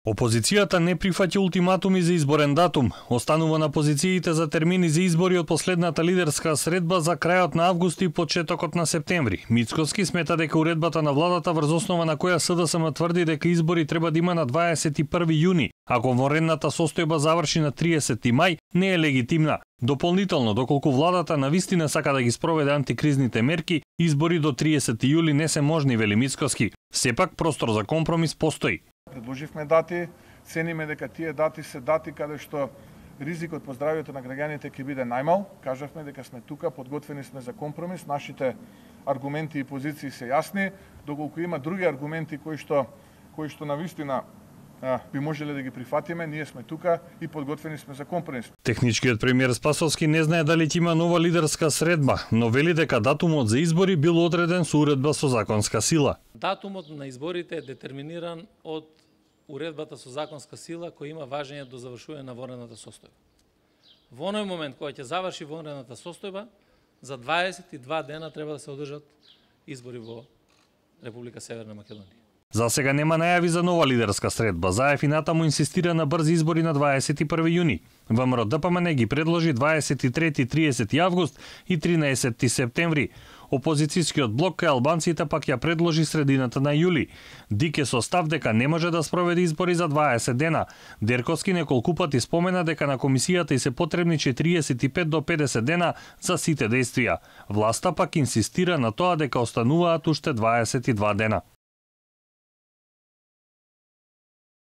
Опозицијата не прифаќа ултиматуми за изборен датум, останува на позициите за термини за избори од последната лидерска средба за крајот на август и почетокот на септември. Мицкоски смета дека уредбата на владата врз основа на која СДСМ тврди дека избори треба да има на 21 јуни, ако вонредната состојба заврши на 30 мај, не е легитимна. Дополнително, доколку владата навистина сака да ги спроведе антикризните мерки, избори до 30 јули не се можни, вели Мицкоски. Сепак простор за компромис постои. Предложивме дати, цениме дека тие дати се дати каде што ризикот по здравјето на граѓаните ќе биде најмал. Кажавме дека сме тука, подготвени сме за компромис, нашите аргументи и позиции се јасни, доколку има други аргументи кои што навистина би можеле да ги прифатиме, ние сме тука и подготвени сме за компромис. Техничкиот премиер Спасовски не знае дали ќе има нова лидерска средба, но вели дека датумот за избори бил одреден со уредба со законска сила. Датумот на изборите е детерминиран од уредбата со законска сила која има важење до завршување на вонредната состојба. Во оној момент кога ќе заврши вонредната состојба, за 22 дена треба да се одржат избори во Република Северна Македонија. За сега нема најави за нова лидерска средба. ЗАЕФ и натаму инсистира на брзи избори на 21 јуни. ВМРО ДПМН ги предложи 23-30 август и 13 септември. Опозицијскиот блок кај албанците пак ја предложи средината на јули. Дике со став дека не може да спроведе избори за 20 дена. Дерковски неколку пати спомена дека на комисијата и се потребни 45 до 50 дена за сите дејствија. Власта пак инсистира на тоа дека остануваат уште 22 дена.